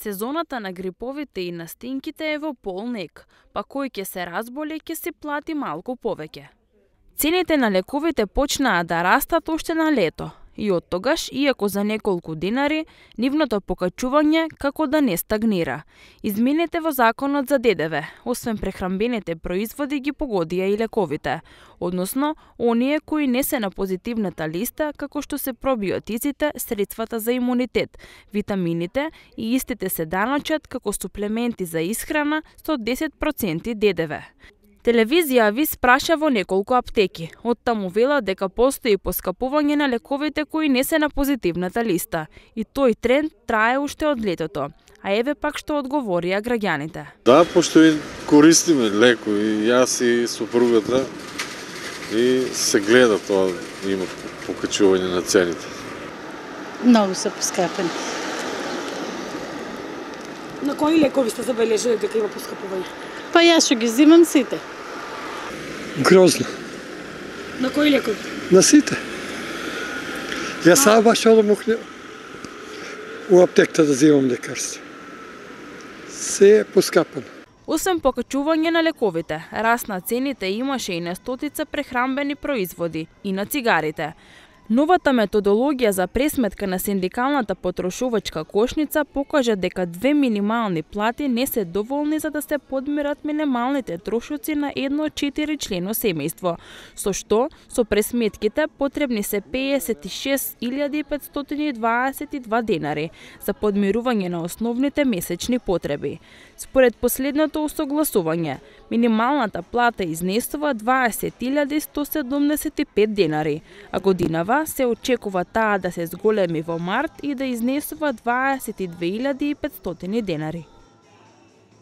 Сезоната на гриповите и настинките е во полнек, па кој ќе се разболе ќе си плати малку повеќе. Цените на лековите почнаа да растат уште на лето и оттогаш, иако за неколку динари, нивното покачување како да не стагнира. Измените во законот за ДДВ, освен прехранбените производи, ги погодија и лековите, односно оние кои не се на позитивната листа, како што се пробиотиците, средствата за имунитет, витамините и истите се даночат како суплементи за исхрана со 10% ДДВ. Телевизија ви спраша во неколку аптеки. Оттаму вела дека постои поскапување на лековите кои не се на позитивната листа. И тој тренд трае уште од летото. А еве пак што одговорија граѓаните. Да, пошто и користиме леко и јас и супругата и се гледа тоа, има покачување на цените. Многу се поскапени. На кои лекови сте забележале дека има поскапување? Па јас што ги взимам сите. Грозно. На кои лекови? На сите. Јас сам баш одам у аптеката да взимам лекарство. Се е поскапано. Освен покачување на лековите, раст на цените имаше и на стотица прехранбени производи и на цигарите. Новата методологија за пресметка на синдикалната потрошувачка кошница покажа дека 2 минимални плати не се доволни за да се подмират минималните трошоци на едно 4-члено семејство, со што со пресметките потребни се 56.522 денари за подмирување на основните месечни потреби. Според последното усогласување, минималната плата изнесува 20.175 денари, а годинава се очекува таа да се зголеми во март и да изнесува 22.500 денари.